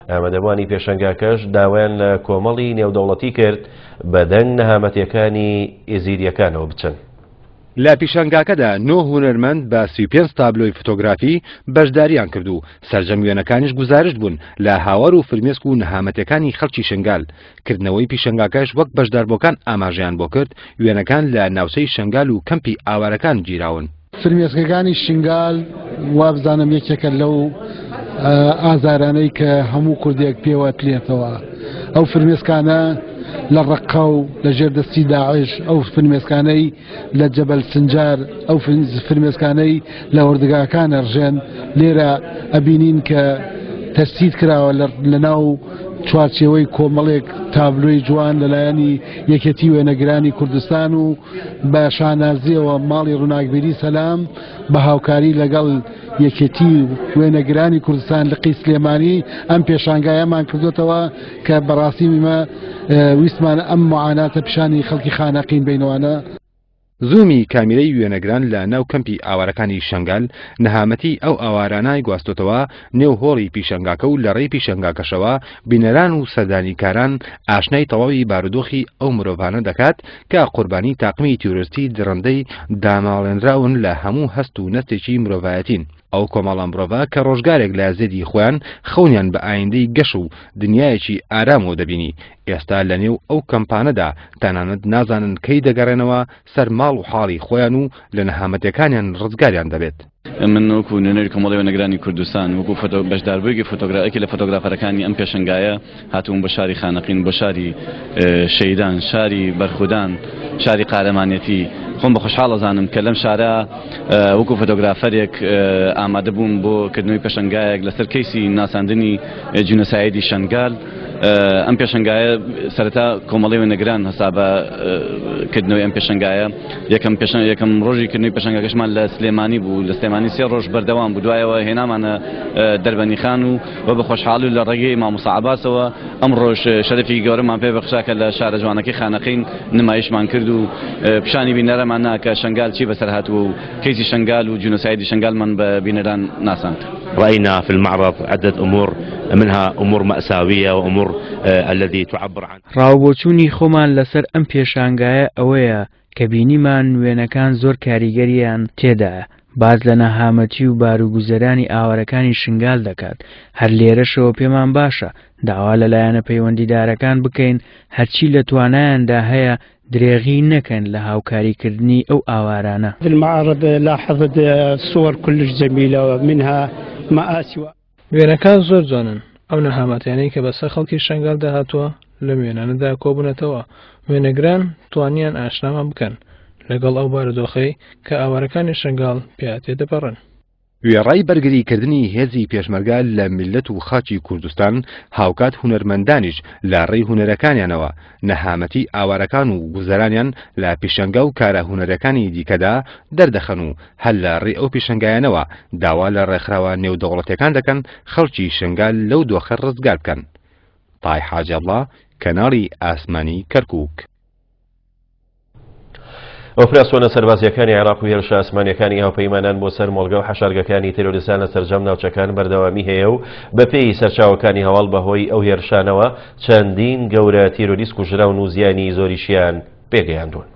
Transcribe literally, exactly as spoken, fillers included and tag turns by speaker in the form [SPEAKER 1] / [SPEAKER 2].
[SPEAKER 1] ئامادەبووانی پێشەنگاکەش داوایان لە کۆمەڵی نێودەوڵەتی کرد بەدەنگ نەهامەتیەکانی ئێزیدیەکانەوە بچن.
[SPEAKER 2] لە پیشانگاکەدا نۆ هونەرمەند بە سی و پێنج تابلۆی فۆتۆگرافی بەشداریان کرد و سەرجەم وێنەکانیش گوزارشت بوون لە هاوار و فرمێسک و نەهامەتەکانی خەڵکی شنگال. کردنەوەی پیشانگاکەش وەک بەشداربووەکان ئاماژەیان بۆ کرد، وێنەکان لە ناوچەی شنگال و کەمپی ئاوارەکان گیراون.
[SPEAKER 3] فرمێسکەکانی شنگال وابزانم یەکێکە لەو ئازارانەی کە هەموو کوردێک پێوە تلێتەوە. ئەو فرمێسکانە لە ڕەققە و لە ژێر دەستی داعش، ئەو فرمێسکانەی لە جەبەل سنجار، ئەو فرمێسکانەی لە وردگاکان ئەڕژێن، لێرە ئەبینین کە تەسید کراوە لە ناو چوارچێوەی کۆمەڵێک تابلۆی جوان لەلایەنی یەکێتی وێنەگرانی کوردستان و بە شانازیەوە ماڵی ڕووناکبیری سەلام بە هاوکاری لەگەڵ یەکێتی وێنەگرانی کوردستان لقی سلێمانی ئەم پێشانگایەمان کردوتەوە کە بەڕاستی ئێمە ویستمان ئەم معاناتە پیشانی خەڵکی خانەقین بینەوانە.
[SPEAKER 2] زوومی کامیرەی وێنەگران لە ناو کەمپی ئاوارەکانی شنگال نەهامەتی ئەو ئاوارانای گواستۆتەوە نێو هۆڵی پیشەنگاکە و لە ڕێی پیشەنگاکەشەوە بینەران و سەردانیکاران ئاشنای تەواوی بارودۆخی ئەو مرۆڤانە دەکات کە قوربانی تاقمی تیرۆریستی دڕندەی داماڵێنراون لە هەموو هەست و نەستێکی مرۆڤایەتین. ئەو کۆمەڵە مرۆڤە کە ڕۆژگارێک لە زێدی خۆیان خەونیان بە ئایندەی گەش و دنیایەکی ئارامەوە دەبینی، ئێستا لە نێو ئەو کەمپانەدا تەنانەت نازانن کەی دەگەڕێنەوە سەر ماڵ و حاڵی خۆیان و لە نەهامەتەکانیان ڕزگاریان دەبێت.
[SPEAKER 4] من وەکو نوێنەری کۆمەڵی وێنەگرانی کوردستان وەکو بەشداربوویەکی فۆتۆگرافێکی لە فۆتۆگرافەرەکانی ئەم پێشەنگایە هاتووم بۆ شاری خانەقین، بۆ شاری شەیدان، شاری بەرخودان، شاری قارەمانێتی. خۆم بە خۆشحاڵ ئەزانم کە لەم شارە وەکو فۆتۆگرافەرێک ئامادە بووم بۆ کردنەوەی پێشەنگایەک لەسەر کەیسی ناساندنی جینۆسایدی شنگال. ئەم پێشەنگایە سەرەتا کۆمەڵی وێنەگران هەسا بە کردنەوەی ئەم پێشەنگایە. یەکەم یەکەم ڕۆژی کردنەوەی پێشەنگاکەشمان لە سلێمانی بوو، لە سلێمانی سێ ڕۆژ بەردەوام بوو، دوایەوە هێنامانە دەربەنیخان و و بە خۆشحاڵی و لە ڕێگەی مامۆستا عەباسەوە ئەم ڕۆژ شەرەفی گەورەمان پێ بەخشا کە لە شارە جوانەکەی خانەقین نمایشمان کرد و پیشانی بینەرەمان نا کە شنگال چی بەسەر هاتووە و کەیسی شنگال و جینۆسایدی شنگالمان بە بینەران ناساند.
[SPEAKER 5] رأينا في المعرض عدة أمور منها أمور مأساوية وأمور الذي تعبر عن
[SPEAKER 6] ڕاوبۆچوونی خۆمان لەسەر ئەم پێشانگایە ئەوەیە کە بینیمان وێنەکان زۆر کاریگەریان تێدایە، باز لە نەهامەتی و باروگوزەرانی ئاوارەکانی شنگال دەکات. هەر لێرەشەوە پێمان باشە داوا لە لایەنە پەیوەندیدارەکان بکەین هەرچی لە توانایاندا هەیە درێغی نەکەن لە هاوکاریکردنی ئەو ئاوارانە.
[SPEAKER 7] المعرض لاحظت صور كلش جميلة منها مآسي.
[SPEAKER 8] وێنەکان زۆر جوانن، ئەو نەهامەتیانەی کە بەسەر خەڵکی شنگال داهاتووە لەم وێنانەدا کۆبوونەتەوە. وێنەگران توانیان ئاشنامان بکەن لەگەڵ ئەو بارودۆخەی کە ئاوارەکانی شنگال پیا تێدەپەڕن.
[SPEAKER 2] وێڕای بەرگریکردنی هێزی پێشمەرگە لە میللەت و خاکی کوردستان، هاوکات هونەرمەندانیش لە ڕێی هونەرەکانیانەوە نەهامەتی ئاوارەکان و گوزەرانیان لە پیشەنگا و کارە هونەرەکانی دیکەدا دەردەخەن و هەر لە ڕێی ئەو پیشەنگایانەوە داوا لە ڕێکخراوە نێودەوڵەتیەکان دەکەن خەڵکی شنگال لەو دۆخە ڕزگار بکەن. تای حاجەڵڵا، کەناڵی ئاسمانی کەرکووک.
[SPEAKER 1] ئۆپراسیۆنە سەربازیەکانی عێراق و هێرشە ئاسمانیەکانی هاوپەیمانان بۆ سەر مۆڵگە و حەشارگەکانی تیرۆریستان لە سەرجەم ناوچەکان بەردەوامی هەیە و بەپێی سەرچاوەکانی هەواڵ بەهۆی ئەو هێرشانەوە چەندین گەورە تیرۆریست کوژراون و زیانی زۆریشیان پێگەیاندوون.